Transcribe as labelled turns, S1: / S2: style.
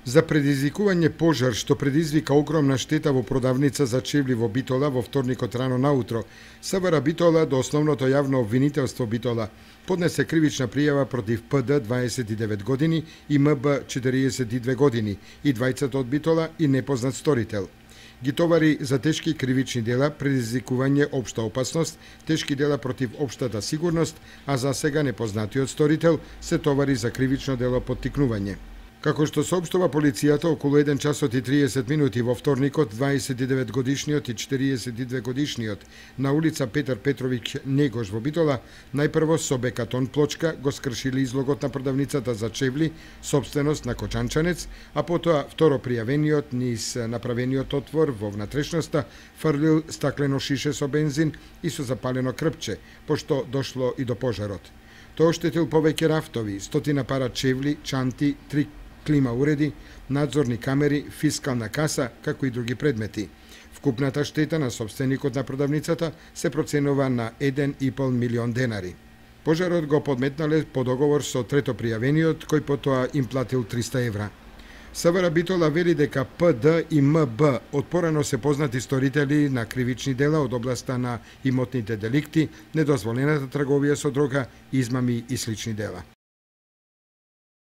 S1: За предизвикување пожар што предизвика огромна штета во продавница за чевли во Битола во вторникот рано наутро, СВР Битола до основното јавно обвинителство Битола поднесе кривична пријава против ПД 29 години и МБ 42 години и двајцата од Битола и непознат сторител. Ги товари за тешки кривични дела, предизвикување општа опасност, тешки дела против општата сигурност, а за сега непознатиот сторител се товари за кривично дело поттикнување. Како што соопштува полицијата, околу 1 часот и 30 минути во вторникот, 29 годишниот и 42 годишниот на улица Петар Петровиќ Негош во Битола, најпрво со бекатон плочка го скршили излогот на продавницата за чевли, собственост на Кочанчанец, а потоа второ пријавениот низ направениот отвор во внатрешноста фрлил стаклено шише со бензин и со запалено крпче, пошто дошло и до пожарот. Тоа оштетил повеќе рафтови, стотина пара чевли, чанти, 3 клима уреди, надзорни камери, фискална каса, како и други предмети. Вкупната штета на собственикот на продавницата се проценува на 1,5 милион денари. Пожарот го подметнале по договор со трето пријавениот, кој потоа им платил 300 евра. СВР Битола вели дека ПД и МБ отпорано се познати сторители на кривични дела од областа на имотните деликти, недозволената трговија со дрога, измами и слични дела.